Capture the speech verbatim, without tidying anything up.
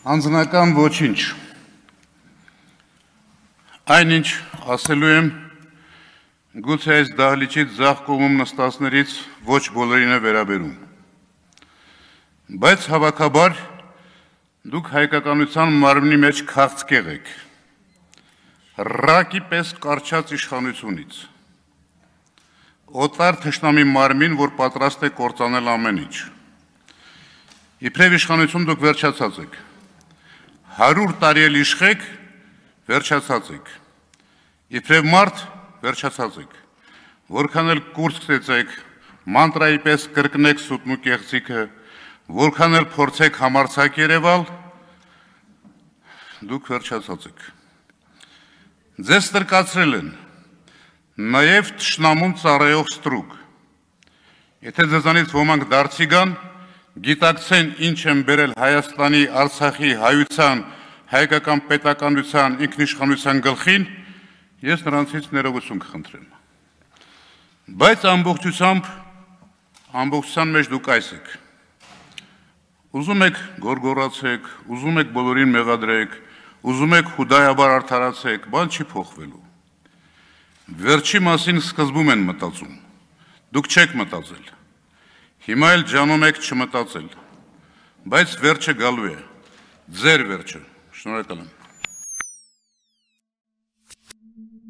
Անձնական ոչինչ։ Այնինչ ասելու եմ, գուցե այս դահլիճից ձախ կողմում նստածներից ոչ բոլորին է վերաբերում։ Բայց հավաքաբար դուք հայկականության մարմնի մեջ քաղցկեղ եք, ռակի պես կարճած իշխանությունից, օտար թշնամի մարմին, որ պատրաստ է կործանել ամեն ինչ։ Իբրև իշխանություն դուք վերջացած եք, հարյուր տարի էլ իշխեք, վերջացած եք, իբրև մարդ վերջացած եք, որքան էլ կուրս գցեք, մանտրայի պես կրկնեք սուտն ու կեղծիքը, որքան էլ փորձեք համարձակ երևալ, դուք վերջացած եք։ Ձեզ ստրկացրել են, նաև թշնամուն ծառայող ստրուկ։ Եթե ձեզանից ոմանք դարձի գան, գիտակցեն ինչ են բերել Հայաստանի, Արցախի, հայության, հայկական պետականության, ինքնիշխանության գլխին, ես նրանցից ներողություն կխնդրեմ։ Բայց ամբողջությամբ, ամբողջության մեջ դուք այս եք։ Ուզում եք գորգորացեք, ուզում եք բոլորին մեղադրեք, ուզում եք հուդայաբար արդարացեք, բան չի փոխվելու։ Վերջի մասին սկզբում են մտածում, դուք չեք մտածել, հիմա էլ ջանում եք չմտածել, բայց վերջը գալու է, ձեր վերջը, շնորհակալ եմ։